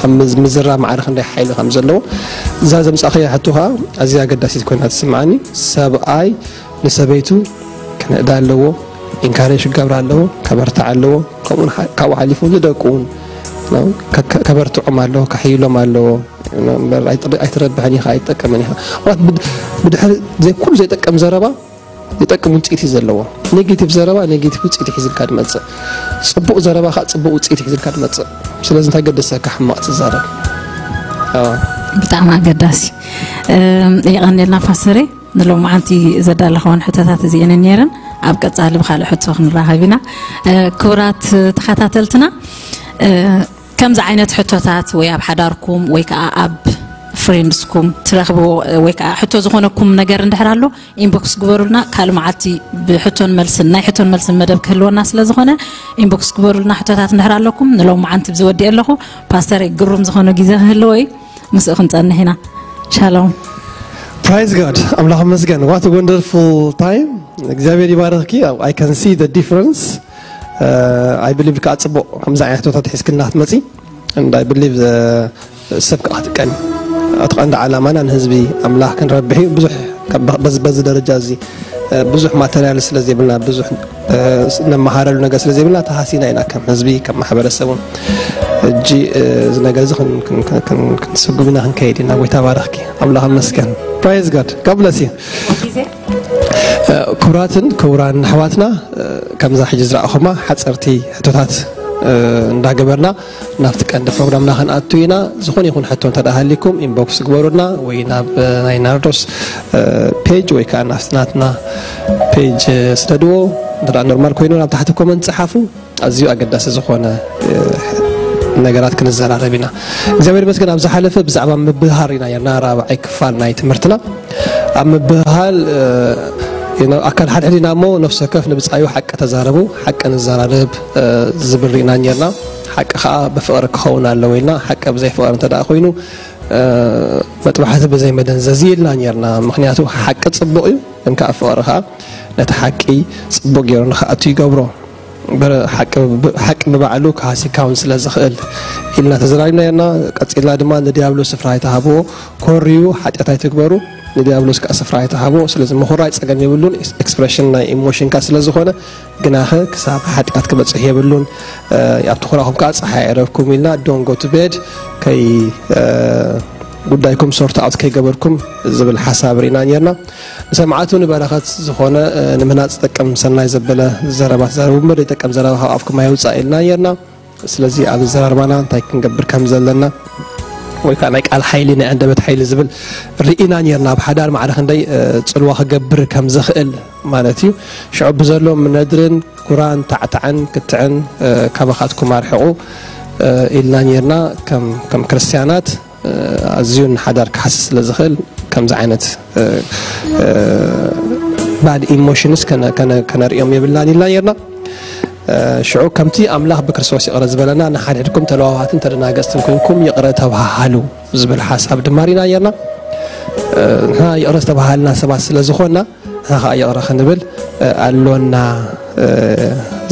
ኣብ ምዝ- ምዝራብ ማዕረ ክንደይ ሓይሊ ከም ዘለዎ እዛ ዘምጻእኸያ ሕቶ ከዓ ኣዝያ ኣገዳሲት ኮይና ትስምዓኒ። ሰብኣይ ንሰበይቱ ክንእዳ ኣለዎ፣ ኢንካሬጅ ክገብር ኣለዎ፣ ከበርትዕ ኣለዎ። ከምኡ ን- ካብኡ ሓሊፉ ንደቁ እውን ከ- ከ- ከበርትዖም ኣለዎ፣ ከሕይሎም ኣለዎ። እምበር ኣይትረ- ኣይትረብሕን ኢኻ፣ ኣይትጠቀምን ኢኻ። ማለት ብድ- ብድሕሪ ዘይ- ኩሉ ዘይጠቀም ዘረባ ይጠቅም ውፅኢት እዩ ዘለዎ። ኔጌቲቭ ዘረባ ኔጌቲቭ ውፅኢት ሒዝልካ ድመፅእ፣ ፅቡቅ ዘረባ ከዓ ፅቡቅ ውፅኢት ሒዝልካ ድመፅእ። ስለዚ እንታይ ገደሰካ ሕማቅ ትዛረብ? ብጣዕሚ ኣገዳሲ። የቀንልና ፓስተሬ፣ ንሎማዓንቲ ዘዳለኸወን ሕቶታት እዚአን ነይረን። ኣብ ቀፃሊ ብካልእ ሕቶ ክንራኸብ ኢና። ክቡራት ተኸታተልትና፣ ከምዚ ዓይነት ሕቶታት ወይ ኣብ ሓዳርኩም ወይ ከዓ ኣብ ፍሬንድስኩም ትረኽብዎ ወይ ከዓ ሕቶ ዝኾነኩም ነገር እንድሕር ኣሎ፣ ኢንቦክስ ግበሩልና። ካልእ መዓልቲ ብሕቶን መልስን፣ ናይ ሕቶን መልስን መደብ ክህልወና ስለ ዝኾነ፣ ኢንቦክስ ግበሩልና። ሕቶታት እንድሕር ኣለኩም፣ ንሎማዓንቲ ብዝወዲእ ኣለኹ። ፓስተር ግሩም ዝኾነ ግዜ ክህልዎ እዩ፣ ምስኡ ክንፀንሕ ኢና። ሻሎም። Praise God. ኣምላኽ መስገን። What a wonderful time. እግዚኣብሔር ይባረኽኪ። I can see the difference. I believe ከዓ ፅቡቅ ከምዚ ዓይነት ሕቶታት ሒዝክልና ክትመፂ። And I believe ሰብ ከዓ ክትቀን፣ እቲ ቀንዲ ዓላማና ንህዝቢ ኣምላኽ ክንረብሕ እዩ። ብዙሕ በዚ ደረጃ እዚ ብዙሕ ማተርያል ስለ ዘይብልና፣ ብዙሕ ነመሃረሉ ነገር ስለ ዘይብልና ተሃሲና ኢና ከም ህዝቢ፣ ከም ማሕበረሰብ እውን። እጂ እዚ ነገር እዚ ክንስጉም ኢና ክንከይድ ኢና። ጎይታ ባረኽኪ። ኣምላኽ መስገን። Praise God. God bless you. ክቡራትን ክቡራን ኣሕዋትና፣ ከምዛ ሕጂ ዝረኣኹማ ሓፀርቲ ሕቶታት እንዳገበርና ናብቲ ቀንዲ ፕሮግራምና ክንኣቱ ኢና። ዝኾነ ይኹን ሕቶ እንተ ሃሊኩም ኢንቦክስ ግበሩና ወይ ናብ ናይ ናርዶስ ፔጅ ወይ ከዓ ናብቲ ናትና ፔጅ ስደድዎ። እንተ ኖርማል ኮይኑ ናብ ታሕቲ ኮመንት ፀሓፉ። ኣዝዩ ኣገዳሲ ዝኾነ ነገራት ክንዘራረብ ኢና። እግዚኣብሔር ይመስገን። ኣብ ዝሓለፈ ብዛዕባ ምብህሃር ኢና ርና ራብዓይ ክፋል ናይ ትምህርትና። ኣብ ምብህሃል ኣካል ሓድሕድ ኢና እሞ ነፍሲ ወከፍ ንብፃዩ ሓቂ ተዛረቡ፣ ሓቂ ንዘራረብ ዝብል ርኢና ኔርና። ሓቂ ከዓ ብፍቕሪ ክኸውን ኣለዎ ኢልና። ሓቂ ብዘይ ፍቕሪ እንተ ደኣ ኮይኑ መጥባሕቲ ብዘይ መደንዘዚ ኢልና ኔርና። ምክንያቱ ሓቂ ፅቡቕ እዩ፣ ግን ከዓ ፍቕሪ ከዓ ነቲ ሓቂ ፅቡቕ ገይሩ ንክኣቱ ይገብሮ። ሓቂ ብባዕሉ ክሃስካ እውን ስለ ዝኽእል ኢልና ተዘራሪብና ኔርና። ቀፂልና ድማ ንዲያብሎስ ስፍራ ኣይትሃብዎ፣ ኮርዩ ሓጢኣት ኣይትግበሩ፣ ንዲያብሎስ ከዓ ስፍራ ኣይትሃብዎ። ስለዚ ምኹራይ ፀገም የብሉን፣ ኤክስፕሬሽን ናይ ኢሞሽንካ ስለ ዝኾነ። ግናኸ ክሳብ ሓጢኣት ክበፅሕ የብሉን። ኣብቲ ኩራኹም ከዓ ፀሓይ ኣይረብኩም ኢልና፣ don't go to bed፣ ከይ ጉዳይኩም ሶርት ኣውት ከይገበርኩም ዝብል ሓሳብ ርኢና ኔርና። ንሰማዕቱ ንበረኸት ዝኾነ ንምህናፅ ዝጠቅም ሰናይ ዘበለ ዘረባ ተዛረቡ እምበር ዘይጠቅም ዘረባ ካብ ኣፍኩም ኣይውፃእ ኢልና ኔርና። ስለዚ ኣብ ኣዘራርባና እንታይ ክንገብር ከም ዘለና ወይ ከዓ ናይ ቃል ሓይሊ ናይ ኣንደበት ሓይሊ ዝብል ርኢና ኔርና። ኣብ ሓዳር ማዕረ ክንደይ ፅልዋ ክገብር ከም ዝኽእል ማለት እዩ። ሽዑ ብዘሎ ምነድርን ኩራን ታዕታዕን ክትዕን ካባኻትኩም ኣርሕቑ ኢልና ኔርና። ከም ክርስትያናት ኣዝዩ ንሓዳር ክሓሲ ስለ ዝኽእል ከምዚ ዓይነት ባድ ኢሞሽንስ ከነርእዮም የብልናን ኢልና ኔርና። ሽዑ ከምቲ ኣምላኽ ብክርስቶስ ይቕረ ዝበለና ንሓድሕድኩም ተለዋዋትን ተደናገጽትን ኮይንኩም ይቕረ ተባሃሃሉ ዝብል ሓሳብ ድማ ርኢና ኔርና። ንሕና ይቕረ ዝተባሃልና ሰባት ስለ ዝኾንና ንሕና ከዓ ይቕረ ክንብል ኣሎና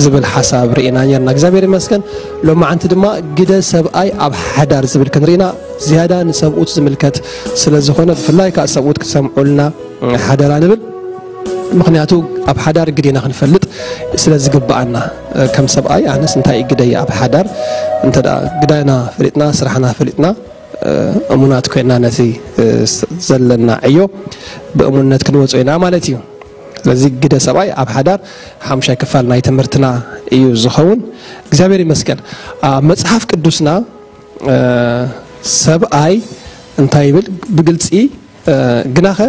ዝብል ሓሳብ ርኢና ኔርና። እግዚኣብሔር ይመስገን። ሎማዓንቲ ድማ ግደ ሰብኣይ ኣብ ሓዳር ዝብል ክንርኢና ዝያዳ ንሰብኡት ዝምልከት ስለ ዝኾነ ብፍላይ ከዓ ሰብኡት ክሰምዑልና ሓደራ ንብል። ምክንያቱ ኣብ ሓዳር ግዴና ክንፈልጥ ስለ ዝግብኣና ከም ሰብኣይ ኣነስ እንታይ እዩ ግደይ ኣብ ሓዳር እንተ ግዳይና ፈሊጥና ስራሕና ፈሊጥና እሙናት ኮይና ነቲ ዘለና ዕዮ ብእሙንነት ክንወፅኦ ኢና ማለት እዩ። ስለዚ ግደ ሰብኣይ ኣብ ሓዳር ሓሙሻይ ክፋል ናይ ትምህርትና እዩ ዝኸውን። እግዚኣብሔር ይመስገን። ኣብ መፅሓፍ ቅዱስና ሰብኣይ እንታይ ይብል ብግልፂ ግናኸ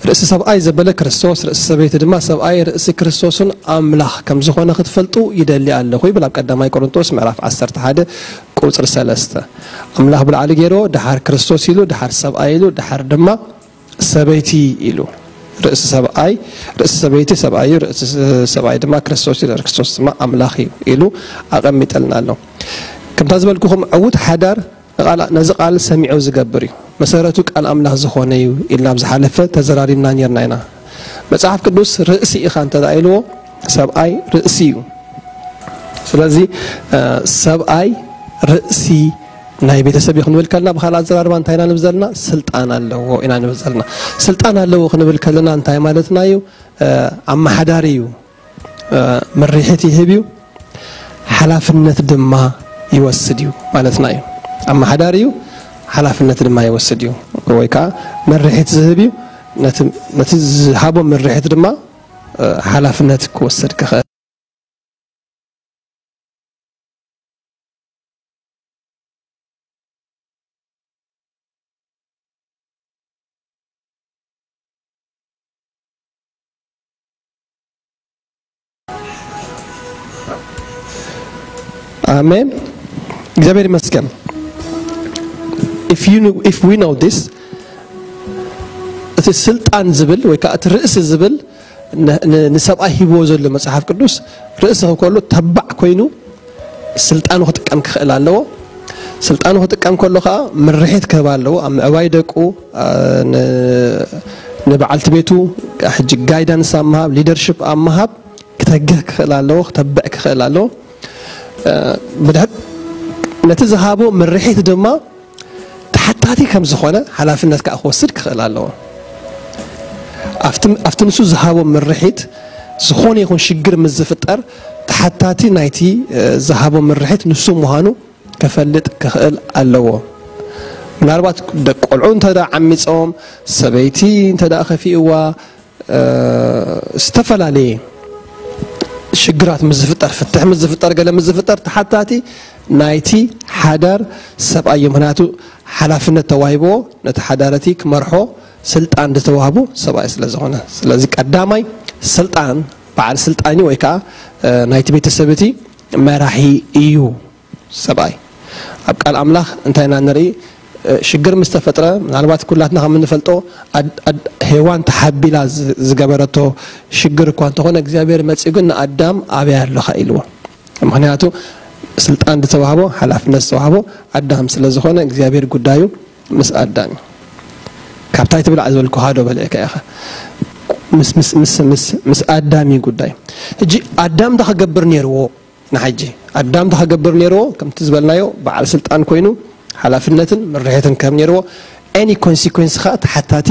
ርእሲ ሰብኣይ ዘበለ ክርስቶስ ርእሲ ሰበይቲ ድማ ሰብኣይ ርእሲ ክርስቶስን ኣምላኽ ከም ዝኾነ ክትፈልጡ ይደሊ ኣለኹ ይብል ኣብ ቀዳማይ ቆሮንቶስ ምዕራፍ ዓሰርተ ሓደ ቁፅሪ ሰለስተ። ኣምላኽ ብላዕሊ ገይርዎ ድሓር ክርስቶስ ኢሉ ድሓር ሰብኣይ ኢሉ ድሓር ድማ ሰበይቲ ኢሉ። ርእሲ ሰብኣይ ርእሲ ሰበይቲ ሰብኣይ እዩ፣ ርእሲ ሰብኣይ ድማ ክርስቶስ እዩ፣ ክርስቶስ ድማ ኣምላኽ እዩ ኢሉ ኣቐሚጠልና ኣሎ። ከምታ ዝበልኩኹም ዕዉት ሓዳር ነዚ ቃል ሰሚዑ ዝገብር እዩ፣ መሰረቱ ቃል ኣምላኽ ዝኾነ እዩ ኢልና ኣብ ዝሓለፈ ተዘራሪብና ኔርና ኢና። መጽሓፍ ቅዱስ ርእሲ ኢኻ እንተ ኢልዎ ሰብኣይ ርእሲ እዩ። ስለዚ ሰብኣይ ርእሲ ናይ ቤተሰብ እዩ ክንብል ከለና፣ ብኻልእ ኣዘራርባ እንታይ ኢና ንብል ዘለና? ስልጣን ኣለዎ ኢና ንብል ዘለና። ስልጣን ኣለዎ ክንብል ከለና እንታይ ማለትና እዩ? ኣመሓዳሪ እዩ። መሪሒት ይህብ እዩ፣ ሓላፍነት ድማ ይወስድ እዩ ማለትና እዩ። ኣመሓዳሪ እዩ፣ ሓላፍነት ድማ ይወስድ እዩ። ወይ ከዓ መሪሒት ዝህብ እዩ፣ ነቲ ዝሃቦ መሪሒት ድማ ሓላፍነት ክወስድ ክኽእል። ኣሜን። እግዚኣብሔር ይመስገን። If you know, if we know this, እቲ ስልጣን ዝብል ወይ ከዓ እቲ ርእሲ ዝብል ንሰብኣይ ሂብዎ ዘሎ መፅሓፍ ቅዱስ፣ ርእሲ ከሎ ተባዕ ኮይኑ ስልጣኑ ክጥቀም ክኽእል ኣለዎ። ስልጣኑ ክጥቀም ከሎ ከዓ ምርሒት ክህብ ኣለዎ። ኣብ ምዕባይ ደቁ፣ ንበዓልቲ ቤቱ ሕጂ ጋይዳንስ ኣብ ምሃብ፣ ሊደርሽፕ ኣብ ምሃብ ክተግህ ክኽእል ኣለዎ፣ ክተብዕ ክኽእል ኣለዎ። ብድሕር ነቲ ዝሃቦ ምርሒት ድማ ተሓታቲ ከም ዝኾነ ሓላፍነት ከዓ ክወስድ ክኽእል ኣለዎ። ኣብቲ ንሱ ዝሃቦ ምርሒት ዝኾነ ይኹን ሽግር ምስ ዝፍጠር፣ ተሓታቲ ናይቲ ዝሃቦ ምርሒት ንሱ ምዃኑ ከፈልጥ ክኽእል ኣለዎ። ምናልባት ደቂ ቆልዑ እንተ ዓሚፆም፣ ሰበይቲ እንተ ከፊእዋ፣ ዝተፈላለየ ሽግራት ምስ ዝፍጠር፣ ፍትሕ ምስ ዝፍጠር፣ ገለ ምስ ዝፍጠር፣ ተሓታቲ ናይቲ ሓዳር ሰብኣይ እዩ። ምክንያቱ ሓላፍነት ተዋሂብዎ፣ ነቲ ሓዳር እቲ ክመርሖ ስልጣን ዝተዋህቦ ሰብኣይ ስለ ዝኾነ። ስለዚ ቀዳማይ ስልጣን፣ በዓል ስልጣን እዩ፣ ወይ ከዓ ናይቲ ቤተሰብ እቲ መራሒ እዩ። ሰብኣይ ኣብ ቃል ኣምላኽ እንታይ ኢና ንርኢ? ሽግር ምስ ተፈጥረ፣ ምናልባት ኩላትና ከም እንፈልጦ፣ ሄዋን ተሓቢላ ዝገበረቶ ሽግር እኳ እንተኾነ፣ እግዚኣብሔር መፂኡ ግን ንኣዳም ኣበይ ኣለኻ ኢልዎ። ምክንያቱ ስልጣን ዝተዋህቦ፣ ሓላፍነት ዝተዋህቦ ኣዳም ስለ ዝኾነ፣ እግዚኣብሔር ጉዳዩ ምስ ኣዳም እዩ። ካብታይ ትብላዕ ዝበልኩ ሃዶ በልዕካ ኢኻ። ምስ ኣዳም እዩ ጉዳይ። ሕጂ ኣዳም እንታይ ክገብር ነይርዎ? ንሓጂ ኣዳም እንታይ ክገብር ነይርዎ? ከምቲ ዝበልናዮ በዓል ስልጣን ኮይኑ ሓላፍነትን ምርሒትን ከም ነይርዎ፣ ኤኒ ኮንሲኮንስ ኸዓ ተሓታቲ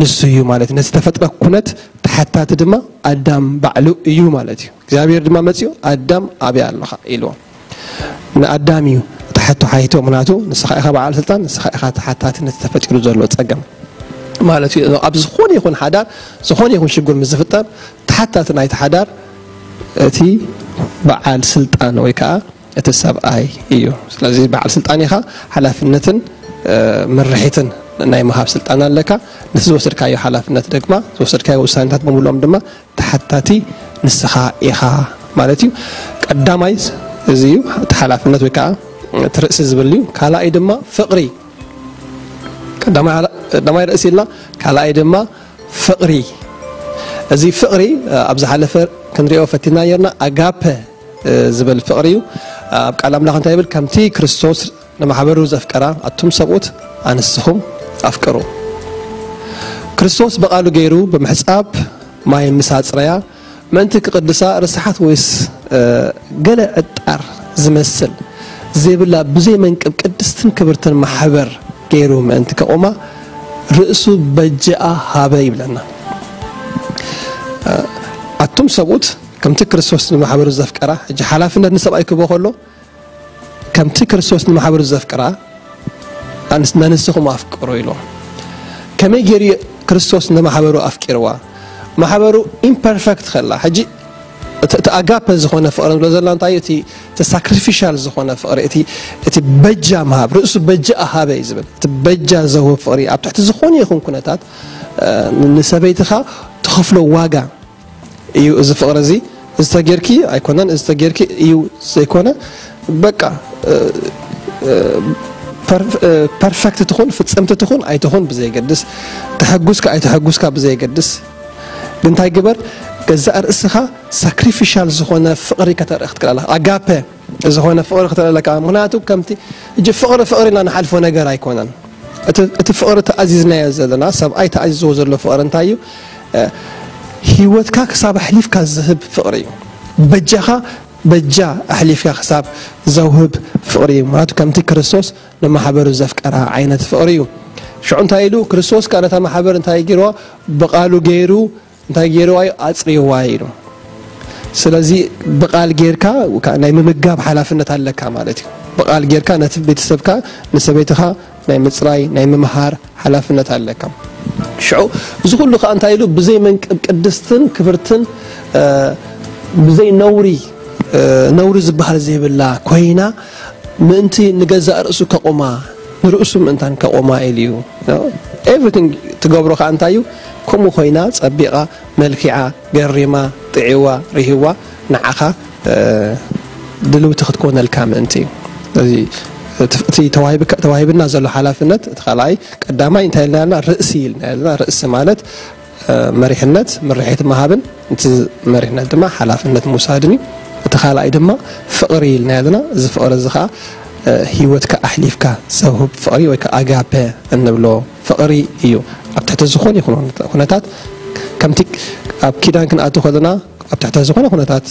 ንሱ እዩ ማለት እዩ። ነቲ ተፈጥረ ኩነት ተሓታቲ ድማ ኣዳም ባዕሉ እዩ ማለት እዩ። እግዚኣብሔር ድማ መፂኡ ኣዳም ኣበይ ኣለኻ ኢልዎ። ንኣዳም እዩ ተሓቶ ሓይቶ፣ ምክንያቱ ንስኻ ኢኻ በዓል ስልጣን፣ ንስኻ ኢኻ ተሓታቲ ነቲ ተፈጢሩ ዘሎ ፀገም ማለት እዩ። ኣብ ዝኾነ ይኹን ሓዳር፣ ዝኾነ ይኹን ሽግር ምስ ዝፍጠር፣ ተሓታቲ ናይቲ ሓዳር እቲ በዓል ስልጣን ወይ ከዓ እቲ ሰብኣይ እዩ። ስለዚ በዓል ስልጣን ኢኻ፣ ሓላፍነትን ምርሒትን ናይ ምሃብ ስልጣን ኣለካ። ነቲ ዝወሰድካዮ ሓላፍነት ድማ፣ ዝወሰድካዮ ውሳኔታት ብምሉኦም ድማ ተሓታቲ ንስኻ ኢኻ ማለት እዩ። ቀዳማይ እዚ እዩ፣ እቲ ሓላፍነት ወይ ከዓ እቲ ርእሲ ዝብል እዩ። ካልኣይ ድማ ፍቕሪ። ቀዳማይ ርእሲ ኢልና፣ ካልኣይ ድማ ፍቕሪ። እዚ ፍቕሪ ኣብ ዝሓለፈ ክንሪኦ ፈቲና ነርና፣ ኣጋፐ ዝብል ፍቕሪ እዩ። ኣብ ቃል ኣምላኽ እንታይ ይብል? ከምቲ ክርስቶስ ንማሕበሩ ዘፍቀራ ኣቱም ሰብኡት ኣንስኹም ኣፍቅሩ። ክርስቶስ ብቓሉ ገይሩ ብምሕጻብ ማይ ምስ ኣጽረያ ምእንቲ ክቕድሳ ርስሓት ወይስ ገለ ዕጣር ዝመስል ዘይብላ ብዘይ መንቅብ ቅድስትን ክብርትን ማሕበር ገይሩ ምእንቲ ከቑማ ርእሱ በጃኣ ሃበ ይብለና። ኣቱም ሰብኡት ከምቲ ክርስቶስ ንማሕበሩ ዘፍቀራ፣ ሕጂ ሓላፍነት ንሰብኣይ ክህቦ ከሎ ከምቲ ክርስቶስ ንማሕበሩ ዘፍቅራ ኣንስ-፣ ነንስኹም ኣፍቅሩ ኢሉ። ከመይ ገይሩ ክርስቶስ ንማሕበሩ ኣፍቂርዋ? ማሕበሩ ኢምፐርፈክት ከላ፣ ሕጂ እቲ፣ እቲ ኣጋፐ ዝኾነ ፍቕሪ ንብሎ ዘለና እንታይ እዩ? እቲ፣ እቲ ሳክሪፊሻል ዝኾነ ፍቕሪ፣ እቲ፣ እቲ በጃ ምሃብ፣ ርእሱ በጃ ሃበ እዩ ዝብል። እቲ በጃ ዘህብ ፍቕሪ ኣብ ትሕቲ ዝኾነ ይኹን ኩነታት፣ እ፣ ንሰበይትኻ ትኸፍሎ ዋጋ እዩ። እዚ ፍቕሪ እዚ፣ እዚ ተጌርኪ ኣይኮነን፣ እዚ ተጌርኪ እዩ ዘይኮነ፣ በቃ፣ እ፣ እ፣ ፐር-፣ እ፣ ፐርፈክት ትኹን፣ ፍጽምቲ ትኹን ኣይትኹን ብዘይገድስ፣ ተሐጉስካ ኣይተሐጉስካ ብዘይገድስ፣ ግን እንታይ ግበር፣ ገዛእ ርእስኻ ሳክሪፊሻል ዝኾነ ፍቕሪ ከተርኢ ክትክእል ኣለኻ። ኣጋፐ ዝኾነ ፍቕሪ ክትርኢ ኣለካ። ምኽንያቱ ከምቲ፣ እጂ ፍቕሪ፣ ፍቕሪ ኢልና ንሓልፎ ነገር ኣይኮነን። እቲ፣ እቲ ፍቕሪ ተኣዚዝናዮ ዘለና፣ ሰብኣይ ተኣዚዝዎ ዘሎ ፍቕሪ እንታይ እዩ? እ፣ ህይወትካ ክሳብ ኣሕሊፍካ ዝህብ ፍቕሪ እዩ። በጃኻ በጃ ኣሕሊፍካ ክሳብ ዘውህብ ፍቕሪ እዩ። ምክንያቱ ከምቲ ክርስቶስ ንማሕበሩ ዘፍቀራ ዓይነት ፍቕሪ እዩ። ሽዑ እንታይ ኢሉ? ክርስቶስ ከኣ ነታ ማሕበር እንታይ ገይርዋ? ብቓሉ ገይሩ እንታይ ገይርዋ እዩ? ኣጽሪዋ ኢሉ። ስለዚ ብቓል ጌርካ ናይ ምምጋብ ሓላፍነት ኣለካ ማለት እዩ። ብቓል ጌርካ ነቲ ቤተሰብካ፣ ንሰበይትኻ ናይ ምጽራይ፣ ናይ ምምሃር ሓላፍነት ኣለካ። ሽዑ እዚ ኩሉ ከኣ እንታይ ኢሉ? ብዘይ መንቅብ ቅድስትን ክብርትን ብዘይ ነውሪ፣ ነውሪ ዝበሃል ዘይብላ ኮይና ምእንቲ ንገዛእ ርእሱ ከቑማ፣ ንርእሱ ምእንታን ከቑማ ኢሉ እዩ። ኤቭሪቲንግ ትገብሮ ከኣ እንታይ እዩ? ከምኡ ኮይና ጸቢቓ፣ መልኪዓ፣ ገሪማ፣ ጥዒዋ፣ ርሂዋ ንዓኻ ድልውቲ ክትኮነልካ ምእንቲ እዩ። እዚ እቲ ተዋሂብካ- ተዋሂብና ዘሎ ሓላፍነት እቲ ካልኣይ ቀዳማይ እንታይ ኢልና ኣለና? ርእሲ ኢልና ኣለና። ርእሲ ማለት መሪሕነት፣ ምርሒት ምሃብን እቲ መሪሕነት ድማ ሓላፍነት ምውሳድን እዩ። እቲ ካልኣይ ድማ ፍቕሪ ኢልና ኣለና። እዚ ፍቕሪ እዚ ከዓ ህይወትካ ኣሕሊፍካ ዘውህብ ፍቕሪ ወይ ከዓ ኣጋፔ እንብሎ ፍቕሪ እዩ። ኣብ ትሕቲ ዝኾነ ይኹን ኩነታት ከምቲ ኣብ ኪዳን ክንኣቱ ከለና ኣብ ትሕቲ ዝኾነ ኩነታት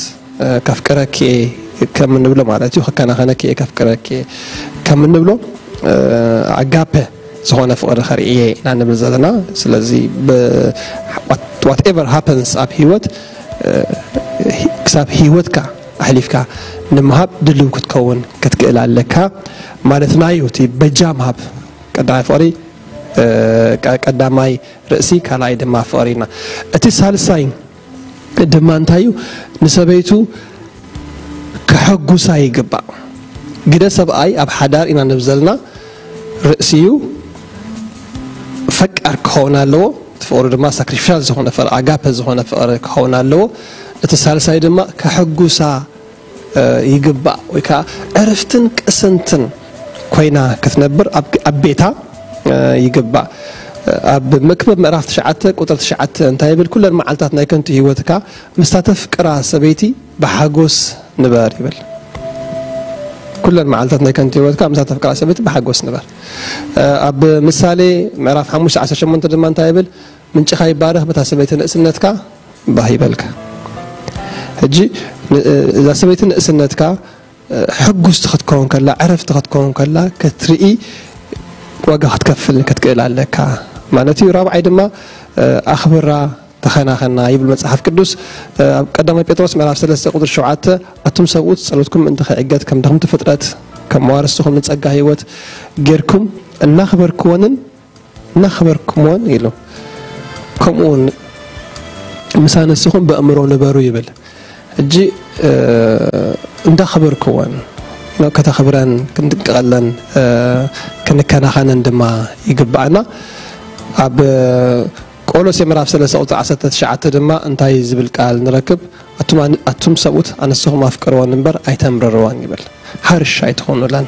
ከፍቅረኪ እየ ከም እንብሎ ማለት እዩ። ከከናኸነኪ እየ፣ ከፍቅረኪ እየ ከም እንብሎ ኣጋፔ ዝኾነ ፍቕሪ ከርኢ እየ ኢና ንብል ዘለና። ስለዚ whatever happens ኣብ ህይወት ክሳብ ህይወትካ ኣሕሊፍካ ንምሃብ ድልው ክትከውን ክትክእል ኣለካ ማለትና እዩ። እቲ በጃ ምሃብ ቀዳማይ ፍቕሪ ቀዳማይ ርእሲ ካልኣይ ድማ ፍቕሪ ኢና። እቲ ሳልሳይ ድማ እንታይ እዩ? ንሰበይቱ ከሐጉሳ ይግባእ። ግደ ሰብኣይ ኣብ ሓዳር ኢና ንብል ዘለና ርእሲ እዩ። ፈቃር ክኸውን ኣለዎ። እቲ ፍቕሪ ድማ ሳክሪፊሻል ዝኾነ ፍቕሪ፣ ኣጋፐ ዝኾነ ፍቕሪ ክኸውን ኣለዎ። እቲ ሳልሳይ ድማ ከሐጉሳ ይግባእ ወይ ከዓ ዕርፍትን ቅስንትን ኮይና ክትነብር ኣብ ቤታ ይግባእ። ኣብ መክብብ ምዕራፍ ትሽዓተ ቁጥር ትሽዓተ እንታይ ይብል? ኩለን መዓልታት ናይ ከንቱ ህይወትካ ምስታ ተፍቅራ ሰበይቲ ብሓጎስ ንበር ይብል። ኩለን መዓልታት ናይ ከንቱ ህይወትካ ምስታ ተፍቅራ ሰበይቲ ብሓጎስ ንበር። ኣብ ምሳሌ ምዕራፍ ሓሙሽተ ዓሰርተ ሸሞንተ ድማ እንታይ ይብል? ምንጭኻ ይባረኽ፣ በታ ሰበይቲ ንእስነትካ ባህ ይበልካ። ሕጂ እዛ ሰበይቲ ንእስነትካ ሕጉስቲ ክትከውን ከላ፣ ዕረፍቲ ክትከውን ከላ ክትርኢ ዋጋ ክትከፍል ክትክእል ኣለካ ማለት እዩ። ራብዓይ ድማ ኣኽብራ፣ ተኸናኸና ይብል መጽሓፍ ቅዱስ። ኣብ ቀዳማይ ጴጥሮስ ምዕራፍ ሰለስተ ቁጥሪ ሸውዓተ ኣቱም ሰብኡት ጸሎትኩም ምእንቲ ከይዕገት ከም ድኽምቲ ፍጥረት ከም መዋርስኹም ንጸጋ ህይወት ጌርኩም እናኽበርክወንን እናኽበርኩምዎን ኢሉ። ከምኡውን ምሳን ንስኹም በእምሮ ንበሩ ይብል። ሕጂ እንዳኽበርክወን ከተኽብረን ክንጥንቀቐለን ክንከናኸነን ድማ ይግባኣና። ኣብ ቆሎሴ ምዕራፍ ሰለስተ ቁፅሪ ዓሰርተ ትሽዓተ ድማ እንታይ ዝብል ቃል ንረክብ? ኣቱም ሰብኡት ኣንስትኹም ኣፍቅርወን እምበር ኣይተምርርወን ይብል። ሃርሽ ኣይትኾኑለን።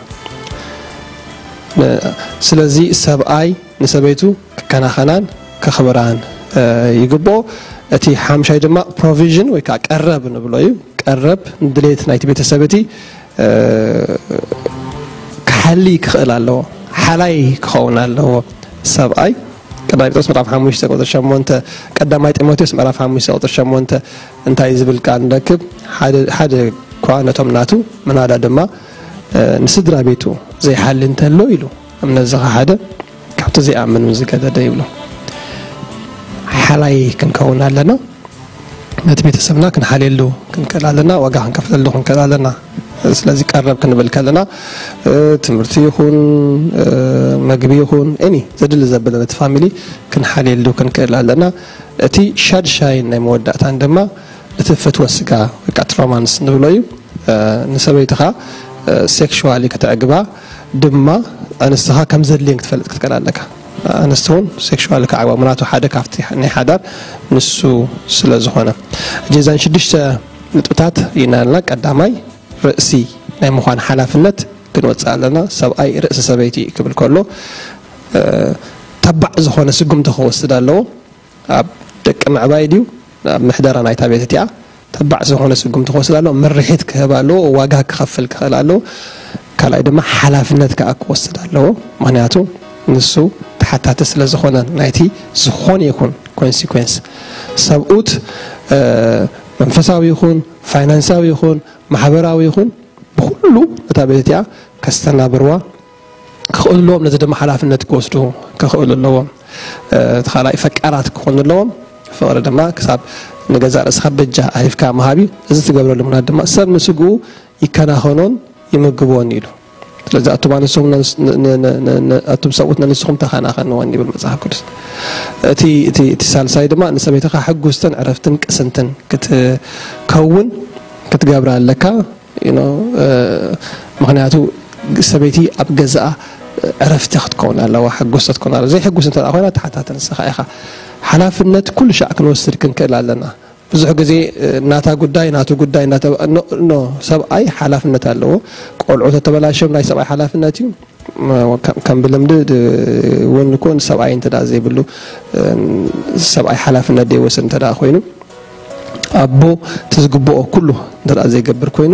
ስለዚ ሰብኣይ ንሰበይቱ ክከናኸናን ከኽብራን ይግብኦ። እቲ ሓምሻይ ድማ ፕሮቪዥን ወይ ከዓ ቀረብ ንብሎ እዩ። ቀረብ ንድሌት ናይቲ ቤተሰብ እቲ ክሓሊ ክኽእል ኣለዎ። ሓላይ ክኸውን ኣለዎ ሰብኣይ። ቀዳማይ ጴጥሮስ ምዕራፍ ሓሙሽተ ቁፅሪ ሸሞንተ፣ ቀዳማይ ጢሞቴዎስ ምዕራፍ ሓሙሽተ ቁፅሪ ሸሞንተ እንታይ ዝብል ቃል ንረክብ? ሓደ እኳ ነቶም ናቱ ምናዳ ድማ ንስድራ ቤቱ ዘይሓሊ እንተሎ ኢሉ እምነት ዝኸሓደ ካብቲ ዘይኣምን እውን ዝገደደ ይብሎ። ሓላይ ክንከውን ኣለና። ነቲ ቤተሰብና ክንሓልየሉ ክንክእል ኣለና። ዋጋ ክንከፍለሉ ክንክእል ኣለና። ስለዚ ቀረብ ክንብል ከለና ትምህርቲ ይኹን መግቢ ይኹን ኒ ዘድሊ ዘበለ ነቲ ፋሚሊ ክንሓልየሉ ክንክእል ኣለና። እቲ ሻድሻይን ናይ መወዳእታን ድማ እቲ ፍትወ ስጋ ወይ ከዓ እቲ ሮማንስ ንብሎ እዩ። ንሰበይትኻ ሴክሽዋሊ ከተዕግባ ድማ ኣንስትኻ ከም ዘድልየን ክትፈልጥ ክትክእል ኣለካ። ኣንስቲ እውን ሴክሽዋሊ ክዓግባ ምናቱ ሓደ ካብቲ ናይ ሓዳር ንሱ ስለ ዝኾነ። እጀዛን ሽዱሽተ ንጥብታት ይናልና። ቀዳማይ ርእሲ ናይ ምዃን ሓላፍነት ክንወፅእ ኣለና። ሰብኣይ ርእሲ ሰበይቲ ክብል ከሎ ተባዕ ዝኾነ ስጉምቲ ክወስድ ኣለዎ። ኣብ ደቂ ምዕባይ ድዩ ኣብ ምሕደራ ናይታ ቤት እቲኣ ተባዕ ዝኾነ ስጉምቲ ክወስድ ኣለዎ። ምርሒት ክህብ ኣለዎ። ዋጋ ክኸፍል ክኽእል ኣለዎ። ካልኣይ ድማ ሓላፍነት ከዓ ክወስድ ኣለዎ። ምክንያቱ ንሱ ተሓታቲ ስለ ዝኾነ ናይቲ ዝኾነ ይኹን ኮንሲኩዌንስ ሰብኡት መንፈሳዊ ይኹን ፋይናንሳዊ ይኹን ማሕበራዊ ይኹን ብኩሉ እታ ቤት እቲኣ ከስተናብርዋ ክኽእሉ ኣለዎም። ነዚ ድማ ሓላፍነት ክወስዱ ክኽእሉ ኣለዎም። እቲ ካልኣይ ፈቃራት ክኾኑ ኣለዎም። ፍቕሪ ድማ ክሳብ ንገዛእ ርእስኻ በጃ ኣሂፍካ ምሃብ እዩ። እዚ ትገብረሉ ምኽንያት ድማ ሰብ ንስግኡ ይከናኸኖን ይምግቦን ኢሉ። ስለዚ ኣቱም ኣንስቶም ነንስ- ን- ን- ን- ን- ኣቱም ሰብኡት ነንስኹም ተኸናኸንወን ይብል መጽሓፍ ቅዱስ። እቲ እቲ እቲ ሳልሳይ ድማ ንሰበይትኻ ሕጉስትን ዕረፍትን ቅስንትን ክትከውን ክትገብራ ኣለካ። You know፣ እ፣ ምኽንያቱ ሰበይቲ ኣብ ገዛኣ ዕረፍቲ ክትከውን ኣለዋ፣ ሕጉስቲ ክትከውን ኣለዋ። ዘይሕጉስ እንተ ኮይና ተሓታተ ንስኻ ኢኻ። ሓላፍነት ኩሉ ሻዕ ክንወስድ ክንክእል ኣለና። ብዙሕ ግዜ ናታ ጉዳይ ናቱ ጉዳይ እናተባ- ኖ ኖ፣ ሰብኣይ ሓላፍነት ኣለዎ። ቆልዑ ተተበላሽዮም ናይ ሰብኣይ ሓላፍነት እዩ። ከም ብልምዲ እውን እኮ ንሰብኣይ እንተ ዘይብሉ፣ ሰብኣይ ሓላፍነት ዘይወስድ እንተ ኮይኑ፣ ኣቦ እቲ ዝግብኦ ኩሉ እንተ ዘይገብር ኮይኑ፣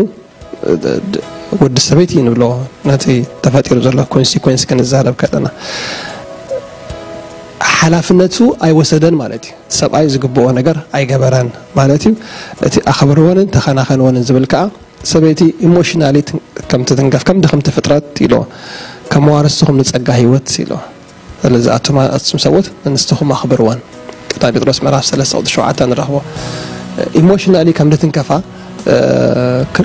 ወዲ ሰበይቲ ንብሎ ነቲ ተፈጢሩ ዘሎ ኮንሲኮንስ ክንዛረብ ከለና፣ ሓላፍነቱ ኣይወሰደን ማለት እዩ። ሰብኣይ ዝግብኦ ነገር ኣይገበረን ማለት እዩ። እቲ ኣኽብርወንን ተኸናኸንወንን ዝብል ከዓ ሰበይቲ ኢሞሽናሊ ከም ትትንከፍ፣ ከም ድኽምቲ ፍጥረት ኢሎ፣ ከም ዋርስኹም ንጸጋ ህይወት ኢሎ። ስለዚ ኣቱም ኣቱም ሰብኡት ንንስትኹም ኣኽብርወን። ቀዳማይ ጴጥሮስ ምዕራፍ ሰለስተ ቁጽሪ ሸውዓተ ንረኽቦ። ኢሞሽናሊ ከም ድትንከፋ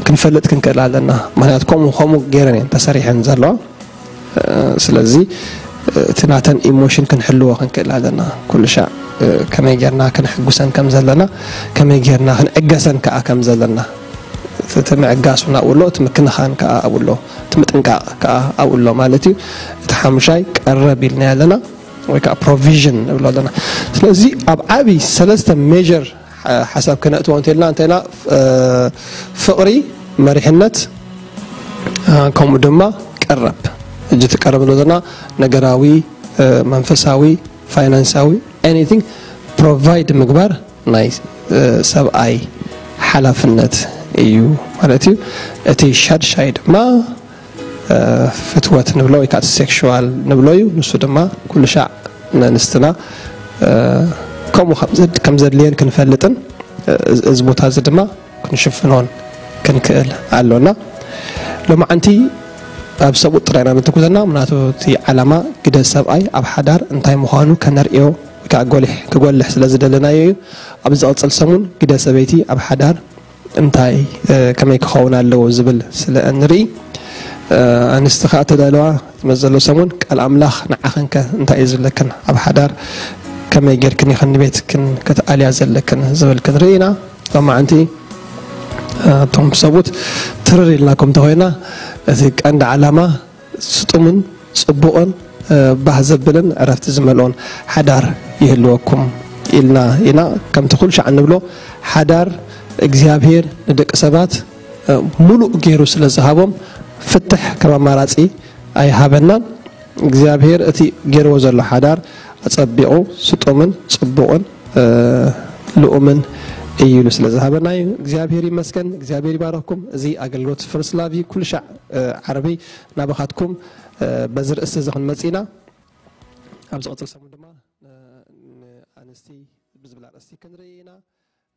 ክንፈልጥ ክንክእል ኣለና። ምክንያቱ ከምኡ ከምኡ ገይረን እየን ተሰሪሐን ዘለዋ። ስለዚ እቲ ናተን ኢሞሽን ክንሕልዎ ክንክእል ኣለና። ኩሉ ሻዕ ከመይ ጌርና ክንሕጉሰን ከም ዘለና፣ ከመይ ጌርና ክንዕገሰን ከዓ ከም ዘለና፣ እቲ ምዕጋስ እውን ኣብኡ ኣሎ፣ እቲ ምክንኻን ከዓ ኣብኡ ኣሎ፣ እቲ ምጥንቃቕ ከዓ ኣብኡ ኣሎ ማለት እዩ። እቲ ሓሙሻይ ቀረብ ኢልና ኣለና ወይ ከዓ ፕሮቪዥን ንብሎ ኣለና። ስለዚ ኣብ ዓብዪ ሰለስተ ሜር ሓሳብ ክነእትዎ እንተልና እንተና ፍቕሪ፣ መሪሕነት፣ ከምኡ ድማ ቀረብ። እጅ ትቀረብ ንብሎ ዘለና ነገራዊ፣ መንፈሳዊ፣ ፋይናንሳዊ፣ ኤኒቲንግ ፕሮቫይድ ምግባር ናይ ሰብኣይ ሓላፍነት እዩ ማለት እዩ። እቲ ሻድሻይ ድማ ፍትወት ንብሎ ወይ ከዓ ሴክሽዋል ንብሎ እዩ። ንሱ ድማ ኩሉ ሻዕ ነንስትና ከምኡ ከም ዘድልየን ክንፈልጥን እዚ ቦታ እዚ ድማ ክንሽፍኖን ክንክእል ኣሎና። ሎማዓንቲ ኣብ ሰብኡት ጥራይና ንትኩዘና ምናቱ እቲ ዓላማ ግደ ሰብኣይ ኣብ ሓዳር እንታይ ምዃኑ ከነርእዮ ወይ ከዓ ጎሊሕ ክጎልሕ ስለ ዝደለናዮ እዩ። ኣብ ዝቐፅል ሰሙን ግደ ሰበይቲ ኣብ ሓዳር እንታይ ከመይ ክኸውን ኣለዎ ዝብል ስለ እንርኢ፣ ኣንስቲ ከዓ ተዳለዋ ዝመዘሎ ሰሙን ቃል ኣምላኽ ንዓኽንከ እንታይ እዩ ዝብለክን፣ ኣብ ሓዳር ከመይ ጌርክን ኢኽን ንቤትክን ክትኣልያ ዘለክን ዝብል ክንርኢ ኢና። ሎማዓንቲ እቶም ሰቡት ትርር ኢልናኩም እንተኾይና፣ እቲ ቀንዲ ዓላማ ስጡምን ጽቡቕን ባህ ዘብልን ዕረፍቲ ዝመልኦን ሓዳር ይህልወኩም ኢልና ኢና። ከምቲ ኩሉ ሻዕ እንብሎ፣ ሓዳር እግዚኣብሔር ንደቂ ሰባት ሙሉእ ገይሩ ስለ ዝሃቦም፣ ፍትሕ ከም ኣማራጺ ኣይሃበናን። እግዚኣብሔር እቲ ገይርዎ ዘሎ ሓዳር ኣጸቢቑ ስጡምን ጽቡቕን ልኡምን እዩ ኢሉ ስለ ዝሃበና እዩ። እግዚኣብሔር ይመስገን። እግዚኣብሔር ይባረኽኩም። እዚ ኣገልግሎት ፈርስት ላቭ እዩ። ኩሉ ሻዕ ዓርቢ ናባኻትኩም በዚ ርእስቲ እዚ ክንመጽእ ኢና። ኣብ ዝቐጽል ሰሙን ድማ ንኣንስቲ ብዝብል ኣርእስቲ ክንርኢ ኢና።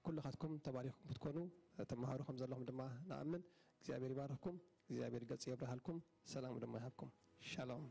ኩልኻትኩም ተባሪኽኩም ክትኮኑ ተመሃሩ ከም ዘለኹም ድማ ንኣምን። እግዚኣብሔር ይባርኽኩም። እግዚኣብሔር ገጹ የብርሃልኩም፣ ሰላሙ ድማ ይሃብኩም። ሻሎም።